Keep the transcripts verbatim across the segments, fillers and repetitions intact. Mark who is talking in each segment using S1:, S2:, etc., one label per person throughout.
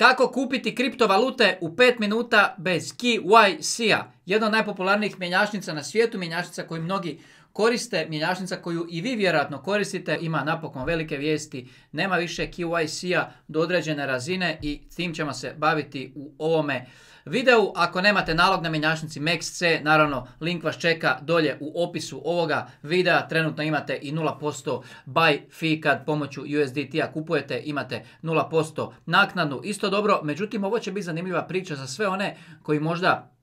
S1: Kako kupiti kriptovalute u pet minuta bez K Y C-a? Jedna od najpopularnijih mjenjačnica na svijetu, mjenjačnica koju mnogi koriste, mjenjačnica koju i vi vjerojatno koristite, ima napokon velike vijesti, nema više K Y C-a do određene razine i s tim ćemo se baviti u ovome videu. Ako nemate nalog na mjenjačnici M E X C, naravno link vas čeka dolje u opisu ovoga videa. Trenutno imate i nula posto buy fee kad pomoću U S D T-a kupujete, imate nula posto naknadu. Isto dobro, međutim ovo će biti zanimljiva priča za sve one koji možda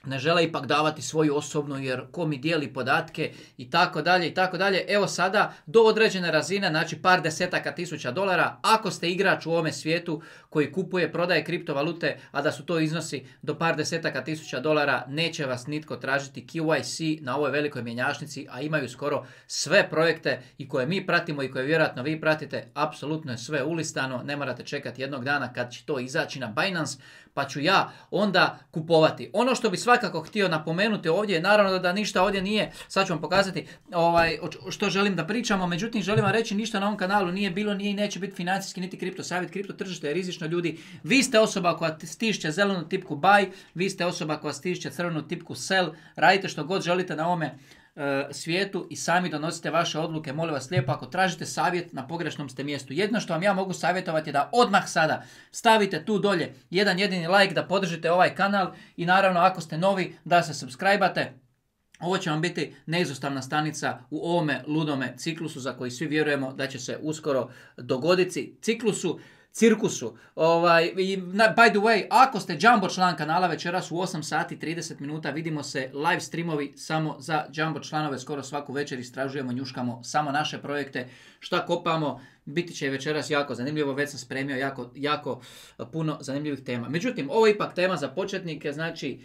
S1: ne žele ipak davati svoju osobnu jer ko mi dijeli podatke i tako dalje i tako dalje. Evo sada do određene razine, znači par desetaka tisuća dolara, ako ste igrač u ovome svijetu koji kupuje, prodaje kriptovalute, a da su to iznosi do par desetaka tisuća dolara, neće vas nitko tražiti K Y C na ovoj velikoj mjenjačnici, a imaju skoro sve projekte i koje mi pratimo i koje vjerojatno vi pratite, apsolutno je sve ulistano, ne morate čekati jednog dana kad će to izaći na Binance, pa ću ja onda kupovati. Ono što bi svakako htio napomenuti ovdje je naravno da ništa ovdje nije, sad ću vam pokazati ovaj, što želim da pričamo, međutim želim vam reći ništa na ovom kanalu nije bilo, nije i neće biti financijski niti kripto savjet. Kripto tržište je rizično, ljudi. Vi ste osoba koja stišće zelenu tipku buy, vi ste osoba koja stišće crvenu tipku sell, radite što god želite na ovome svijetu i sami donosite vaše odluke. Molim vas lijepo, ako tražite savjet, na pogrešnom ste mjestu. Jedno što vam ja mogu savjetovati je da odmah sada stavite tu dolje jedan jedini like, da podržite ovaj kanal i naravno ako ste novi da se subscribe-ate. Ovo će vam biti neizostavna stanica u ovome ludome ciklusu za koji svi vjerujemo da će se uskoro dogoditi. Ciklusu, cirkusu. Ovaj, by the way, ako ste Jumbo član kanala, večeras u osam sati i trideset minuta vidimo se live streamovi samo za Jumbo članove. Skoro svaku večer istražujemo, njuškamo samo naše projekte. Šta kopamo, biti će večeras jako zanimljivo. Već sam spremio jako, jako puno zanimljivih tema. Međutim, ovo je ipak tema za početnike. Znači,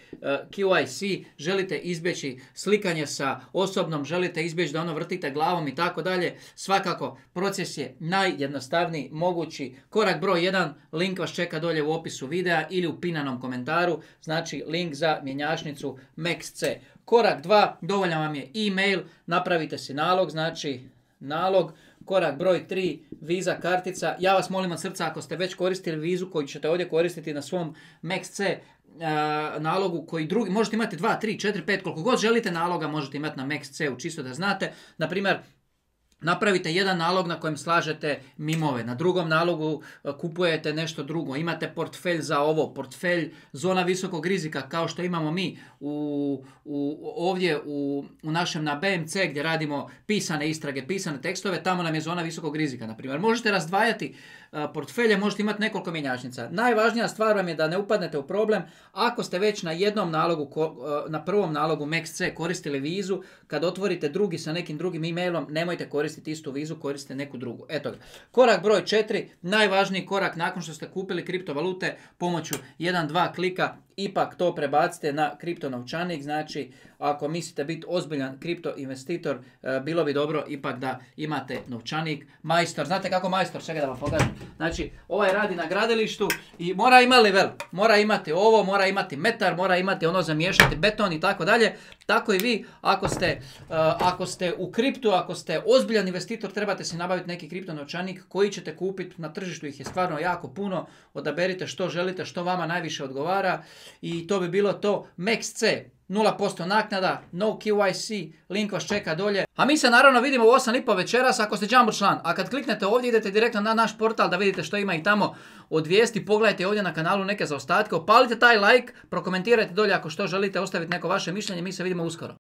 S1: K Y C, želite izbjeći slikanje sa osobnom, želite izbjeći da ono vrtite glavom i tako dalje. Svakako, proces je najjednostavniji mogući. Korak broj jedan, link vas čeka dolje u opisu videa ili u pinanom komentaru. Znači, link za mjenjačnicu M E X C. Korak dva, dovoljan vam je e-mail, napravite si nalog, znači nalog. Korak broj tri, Visa kartica. Ja vas molim od srca, ako ste već koristili vizu koju ćete ovdje koristiti na svom M E X C uh, nalogu koji drugi, možete imati dva, tri, četiri, pet, koliko god želite naloga možete imati na M E X C-u, čisto da znate. Na primjer, napravite jedan nalog na kojem slažete mimove, na drugom nalogu kupujete nešto drugo, imate portfelj za ovo, portfelj zona visokog rizika kao što imamo mi u, u, ovdje u, u našem na B M C gdje radimo pisane istrage, pisane tekstove, tamo nam je zona visokog rizika. Na primjer, možete razdvajati portfelje, možete imati nekoliko mjenjačnica. Najvažnija stvar vam je da ne upadnete u problem ako ste već na jednom nalogu, na prvom nalogu M E X C koristili vizu, kad otvorite drugi sa nekim drugim e-mailom, nemojte koristiti istu vizu, koristite neku drugu. Eto ga. Korak broj četiri, najvažniji korak nakon što ste kupili kriptovalute pomoću jedan dva klika, ipak to prebacite na kripto novčanik. Znači, ako mislite biti ozbiljan kripto investitor, bilo bi dobro ipak da imate novčanik. Majstor, znate kako majstor, čekaj da vam pokažem. Znači, ovaj radi na gradilištu i mora imati level, mora imati ovo, mora imati metar, mora imati ono za miješati beton i tako dalje. Tako i vi, ako ste, uh, ako ste u kriptu, ako ste ozbiljan investitor, trebate si nabaviti neki kripto novčanik koji ćete kupiti. Na tržištu ih je stvarno jako puno. Odaberite što želite, što vama najviše odgovara. I to bi bilo to. M E X C, nula posto naknada, no K Y C, link vas čeka dolje. A mi se naravno vidimo u osam i pol večeras ako ste Jumbo član. A kad kliknete ovdje idete direktno na naš portal da vidite što ima i tamo od vijesti. Pogledajte ovdje na kanalu neke zaostatke, opalite taj like, prokomentirajte dolje ako što želite, ostaviti neko vaše mišljenje. Mi se vidimo uskoro.